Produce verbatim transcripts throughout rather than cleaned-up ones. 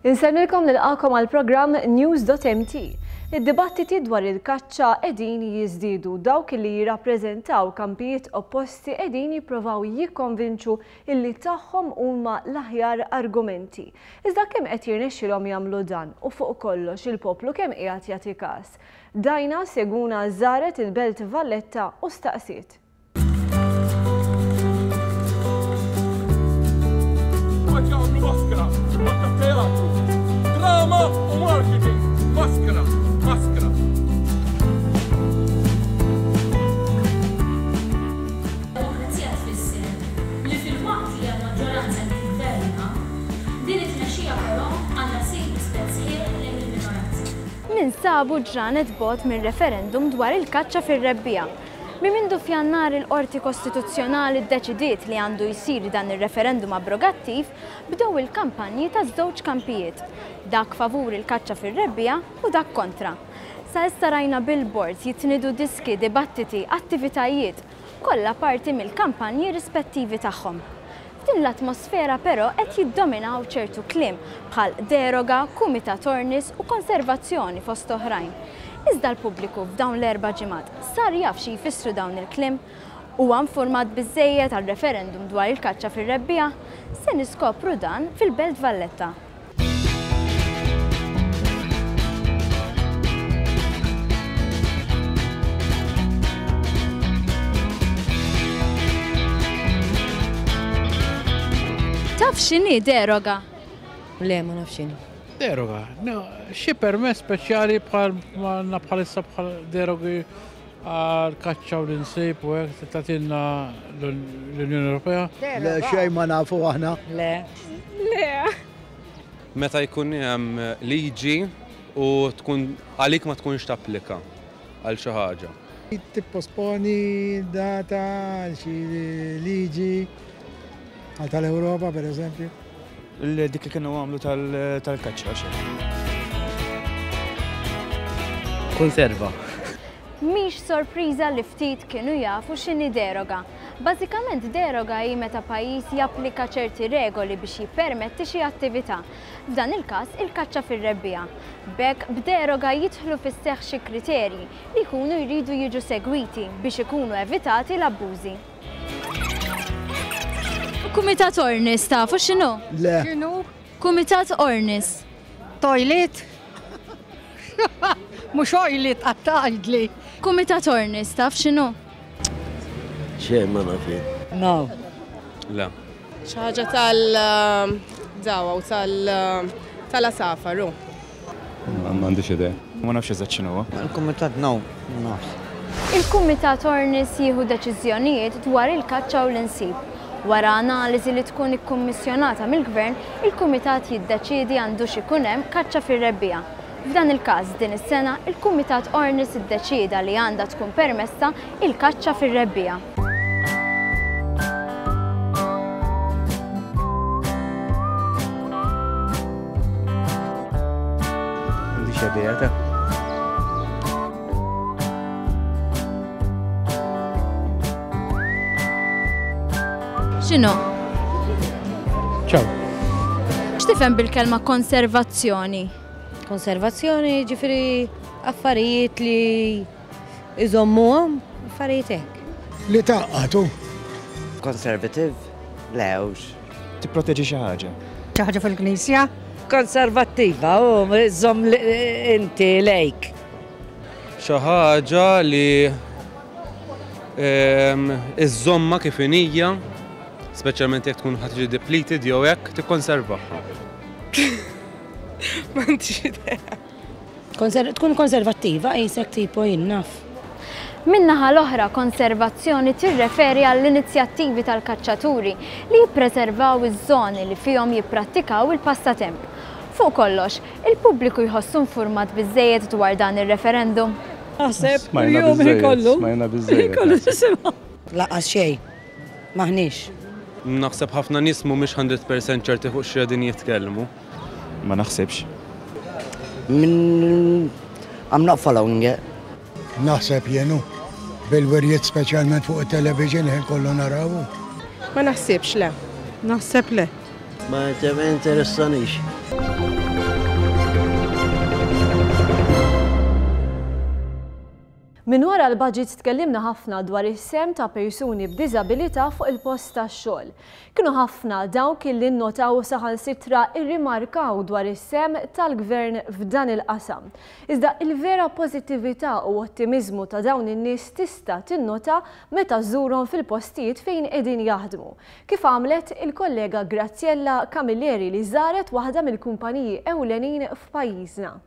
Insellmilkom, nilqagħkom għal programm News dot M T. Id-dibattiti dwar il-kaċċa qegħdin jiżdiedu. Dawk li jirrappreżentaw kampijiet opposti qegħdin jipprovaw jikkonvinċu illi tagħhom huma l-aħjar argumenti. Iżda kemm qed jirnexxilhom jagħmlu dan u fuq kollox il-poplu kemm qiegħed jagħti każ? Dajna Seguna żaret il-Belt Valletta u staqsiet. Qed jagħmlu maskra, ta' teatru, drama u marketing, maskra, maskra. Demokrazija tfisser li filwaqt li hemm maġġoranza li tigverna, din it-tmexxija però għandha ssir rispett sħiħ lejn il-minoranza. Ninsabu ġranet bogħod minn referendum dwar il-kaċċa fir-rebbiegħa. Minn mindu f'Jannar il-Qorti Kostituzzjonali ddeċidiet li għandu jsir dan ir-referendum abrogattiv, bdew il-kampanji ta' żewġ kampijiet, dak favur il-kaċċa fir-rebbiegħa u dak kontra. Sa issa rajna billboards, jitnidu diski, dibattiti, attivitajiet, kollha parti mill-kampanji rispettivi tagħhom. F'din l-atmosfera però qed jiddominaw ċertu kliem bħal deroga, kumitat Ornis u konservazzjoni, fost oħrajn. Iżda l-pubbliku f'dawn l-erba' ġimgħat sar jaf xi jfissru dawn il-kliem? Huwa informat biżejjed għal referendum dwar il-kaċċa fir-rebbiegħa? Se niskopru dan fil-Belt Valletta. Taf x'inhi deroga? Le, ma nafx x'inhi. Deroga, no, xi permess speċjali bħal ma għandna bħalissa, bħal derogi għal kaċċa u l-insib u hekk tagħtilna l-Unjoni Ewropea. Le, xejn ma nafu aħna. Le. Le. Meta jkun hemm liġi u tkun għalik ma tkunx tapplika għal xi ħaġa. Tipposponi data għal xi liġi għal tal-Ewropa, per eżempju. Dik li kienu għamlu tal-kaċċa xejn. Konserva. Mhix sorpriża li ftit kienu jafu x'inhi deroga. Bażikament, deroga hi meta pajjiż japplika ċerti regoli biex jippermetti xi attività. F'dan il-każ, il-kaċċa fir-rebbiegħa. B'hekk, b'deroga jidħlu fis-seħħ xi kriterji li jkunu jridu jiġu segwiti biex ikunu evitati l-abbużi. Kumitat Ornis tafu x'inhu? Le. X'inhu? Kumitat Ornis. Toilet? Mhux oilet għattajdli. Kumitat Ornis taf x'inhu? Xejn ma naf jien. No. Le. Xi ħaġa tal-dawa u tal- tal-għasafar. M'għandix idea. Ma nafx eżatt x'inhu. Il-kumitat, no, ma nafx. Il-Kumitat Ornis jieħu deċiżjonijiet dwar il-kaċċa u l-insib. Wara analiżi li tkun ikkummissjonata mill-Gvern, il-Kumitat jiddeċiedi għandux ikun hemm kaċċa fir-rebbiegħa. F'dan il-każ, din is-sena, il-Kumitat Ornis iddeċieda li għandha tkun permessa il-kaċċa fir-rebbiegħa. M'għandix idea ta'. X'inhu? Ciao. X'tifhem bil-kelma konservazzjoni? Konservazzjoni, ġifieri affarijiet li iżommuhom, affarijiet hekk. Li taqqatu. Conservative? Le, hux. Tipproteġi xi ħaġa. Xi ħaġa fil-knisja? Konservattiva, u żomm inti lejk. Xi ħaġa li ehm, iżżommha kif inhija, speċjalment jekk tkun ħa tiġi depleted jew hekk, tikkonservaha. M'għandix idea. Konser tkun konservattiva, qisek tipo jien naf. Min-naħa l-oħra, konservazzjoni tirreferi għall-inizjattivi tal-kaċċaturi li jippreservaw iż-żoni li fihom jipprattikaw il-passatemp. Fuq kollox, il-pubbliku jħossu informat biżejjed dwar dan ir-referendum? Naħseb Smajna jum biżejjed, kollu. smajna biżejjed. Kollu nisimgħu. Lanqas xejn. Maħniex. Naħseb ħafna nies mhumiex mija fil-mija ċerti fuq x'qegħdin jitkellmu. Ma naħsibx. Min I'm not following it. Naħseb jenu. Bil-wirjiet, speċjalment fuq il-television, ħin kollu narawu. Ma naħsibx, le. Naħseb le. Ma interessanix. Min wara l-budget tkellimna ħafna dwar is-sehem ta' persuni b'diżabilità fuq il-post tax-xogħol. Kienu ħafna dawk li nnotaw saħansitra irrimarkaw dwar is-sehem tal-gvern f'dan il-qasam. Iżda il-vera pożittività u ottimiżmu ta' dawn in-nies tista' tinnota meta żżurhom fil-postijiet fejn qegħdin jaħdmu. Kif għamlet il-kollega Graziella Camilleri li żaret waħda mill-kumpaniji ewlenin f'pajjiżna.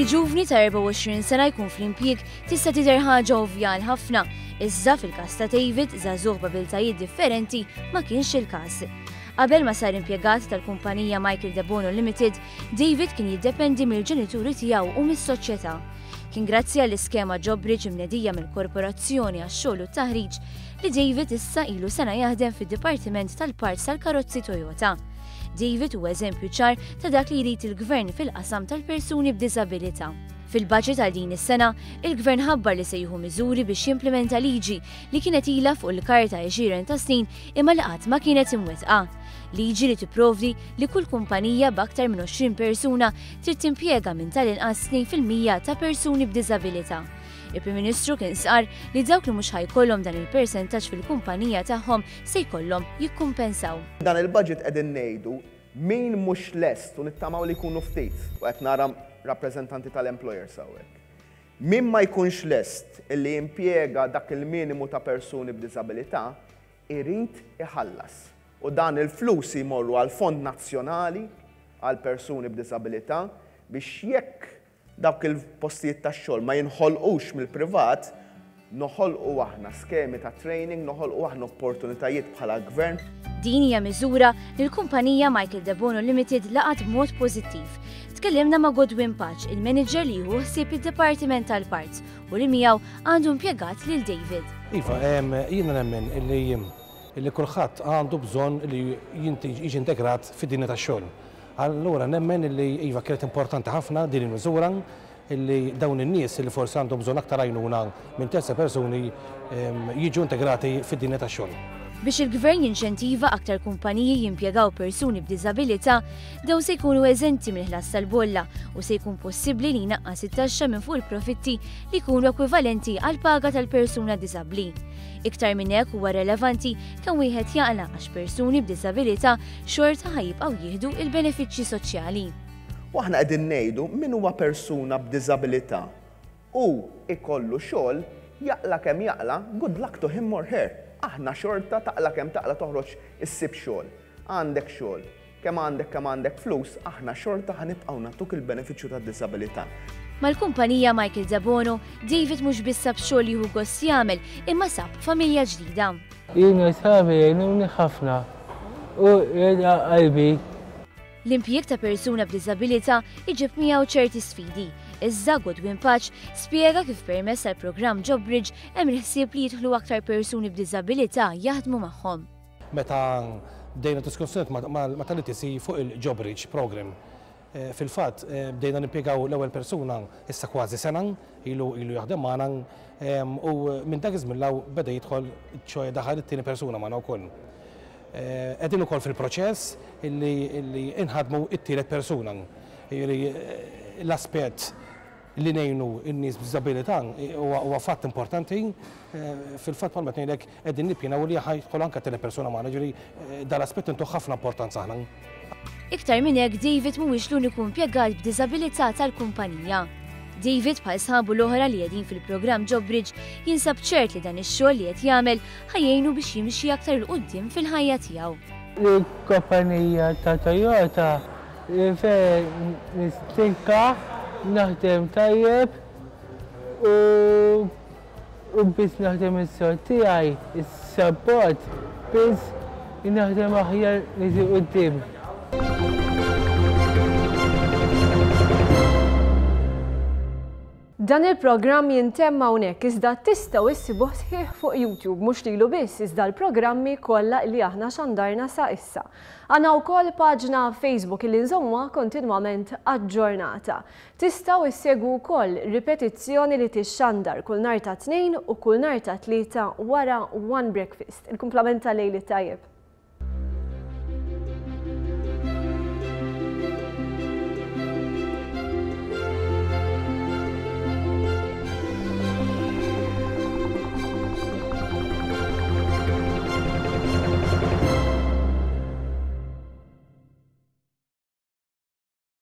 Li ġuvni ta' erbgħa u għoxrin sena jkun fl-impjieg tista' tidher ħaġa ovvja għal ħafna, iżda fil-każ ta' David, żagħżugħ b'abiltajiet differenti, ma kienx il-każ. Qabel ma sar impjegat tal-kumpanija Michael Debono Limited, David kien jiddependi mill-ġenituri tiegħu u mis-soċjetà. Kien grazzi għall-iskema JobBridge imnedija mill-Korporazzjoni għax-xogħol u t-taħriġ li David issa ilu sena jaħdem fid-Dipartiment tal-Parts tal-Karozzi Toyota. David huwa eżempju ċar ta' dak li jrid il-gvern fil-qasam tal-persuni b'diżabilità. Fil-budget għal din is-sena, il-gvern ħabbar li se jieħu miżuri biex jimplementa liġi li kienet ilha fuq il-karta għexieren ta' snin imma li qatt ma kienet imwettqa. Liġi li tipprovdi li kull kumpanija b'aktar minn għoxrin persuna trid timpjega minn tal-inqas tnejn fil-mija ta' persuni b'diżabilità. Il-Prim Ministru kien sqar li dawk li mhux ħajkollhom dan il-persentaġġ fil-kumpanija tagħhom se jkollhom jikkumpensaw. Dan il-budget qegħdin ngħidu min mhux lest u nittamaw li jkunu ftit u qed nara rappreżentanti tal-employers hawnhekk. Min ma jkunx lest illi jimpjega dak il-minimu ta' persuni b'diżabilità irid iħallas. U dan il-flus jmorru għal Fond Nazzjonali għal persuni b'diżabilità biex jekk dawk il-postijiet tax-xogħol ma jinħolqux mill-privat, noħolqu aħna skemi ta' training, noħolqu aħna opportunitajiet bħala gvern. Din hija miżura li l-kumpanija Michael Debono Limited laqat b'mod pożittiv. Tkellimna ma' Godwin Pace, il-manager li jieħu ħsieb id-Dipartiment tal-Parts u li miegħu għandu impjegat lil David. Iva, jiena nemmen illi illi kulħadd għandu bżonn li jiġi integrat fid-dinja tax-xogħol. Allura nemmen illi iva kienet importanti ħafna din il-miżura illi dawn in-nies li forsi għandhom bżonn aktar għajnuna minn terza persuni jiġu integrati fid-dinja tax-xogħol. Biex il-gvern jinċentiva aktar kumpaniji jimpjegaw persuni b'diżabilità, dawn se jkunu eżenti mill-ħlas tal-bolla u se jkun possibbli li jnaqqas it-taxxa minn fuq il-profitti li jkunu ekwivalenti għal paga tal-persuna diżabbli. Iktar minn hekk huwa relevanti kemm wieħed jaqla' għax persuni b'diżabilità xorta ħajibqgħu jieħdu il-benefiċċji soċjali. U aħna qegħdin ngħidu min huwa persuna b'diżabilità u ikollu xogħol jaqla' kemm jaqla', good luck to him or her. Aħna xorta taqla' kemm taqla' toħroġ issib xogħol. Għandek xogħol, kemm għandek kemm għandek flus, aħna xorta ħanibqgħu nagħtuk il-benefiċċju tad-diżabilità. Mal-kumpanija Michael Debono, David mhux biss sab xogħol jieħu gost jagħmel, imma sab familja ġdida. Jiena sħabi jgħinuni ħafna u jgħidha qalbi. L-impjieg ta' persuna b'diżabilità iġib miegħu ċerti sfidi. Iżda Godwin Pace spjega kif permezz tal-programm JobBridge hemm il-ħsieb li jidħlu aktar persuni b'diżabilità jaħdmu magħhom. Meta bdejna diskussjoni ma' tal-I T C fuq il-JobBridge program, fil-fatt bdejna nimpjegaw l-ewwel persuna issa kważi sena ilu ilu jaħdem magħna u minn dak iż-żmien law beda jidħol ċoe daħal it-tieni persuna magħna wkoll. Qegħdin ukoll fil-proċess illi inħadmu it-tielet persuna. L-aspett li ngħinu n-nies b'diżabilità huwa fatt importanti. Fil-fatt bħalma qed ngħidlek qegħdin nippjanaw li ħajħol anke tielet persuna magħna, ġifieri dal-aspett intuh ħafna importanza aħna. Iktar minn hekk David mhuwiex l-uniku impjegat b'diżabilità tal-kumpanija. David bħal sħabu l-oħra li qegħdin fil-programm JobBridge jinsab ċert li dan ix-xogħol li qed jagħmel ħajjejnu biex jimxi aktar 'il quddiem fil-ħajja tiegħu. Il-kumpanija ta' Toyota fejn nistinka naħdem tajjeb u biss naħdem is-xogħol tiegħi, is-sapport biss naħdem aħjar niġi quddiem. Dan il-programm jintemm hawnhekk, iżda tistgħu issibuh sħiħ fuq YouTube, mhux lilu biss, iżda l-programmi kollha li aħna xandarna sa issa. Għandna wkoll paġna Facebook li nżommuha kontinwament aġġornata. Tistgħu issegwu wkoll ripetizzjoni li tixxandar kull nhar ta' Tnejn u kull nhar ta' Tlieta wara One Breakfast. Il-kumplament ta' lejl it-tajjeb.